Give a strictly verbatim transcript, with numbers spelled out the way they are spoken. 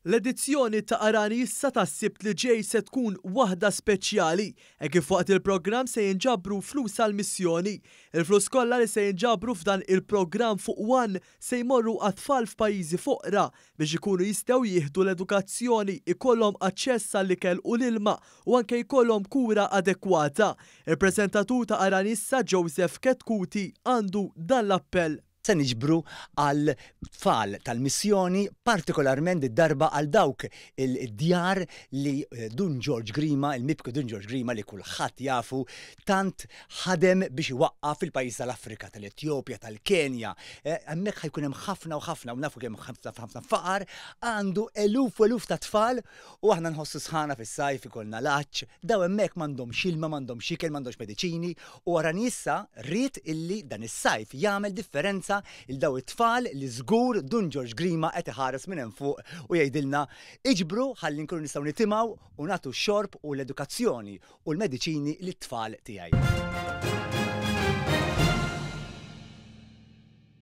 L-edizzjoni ta' Arani Issa tas-Sibt li ġej se tkun waħda speċjali, e kif waqt il-programm se jinġabru flus għal-missjoni. Il-flus kollha li se jinġabru f'dan il-programm fuq One se jmorru għat-tfal f'pajjiżi foqra biex ikunu jistgħu jieħdu l-edukazzjoni, ikollhom aċċess għall-ikel u l-ilma u anke jkollhom kura adekwata. Il-preżentatur ta' Arani Issa, Joseph Chetcuti, għandu dan l-appell. Se niġbru għal tfal tal-missjoni, partikolarment id-darba għal dawk il-djar li eh, Dun George Grima, il-mibki Dun George Grima li kulħadd jafu, tant ħadem biex iwaqqaf fil-pajjiż tal-Afrika, tal-Etjopja, tal-Kenja. Eh, hemmhekk ħa jkun hemm ħafna u ħafna, u nafu kemm ħafna ħafna faqar, għandu eluf u eluf ta' tfal u aħna nħossu sħana fis-sajf, ikollna l-għatx, daw hemmhekk m'għandhomx ilma, m'għandhomx ikel, m'għandhomx mediċini u Arani Issa ried illi dan is-sajf jagħmel differenza lil daw it-tfal li żgur Dun George Grima qed iħares minn hemm fuq u jgħidilna iġbru ħalli nkunu nistgħu nitimgħu u nagħtu x-xorb u l-edukazzjoni u l-mediċini lit-tfal tiegħi.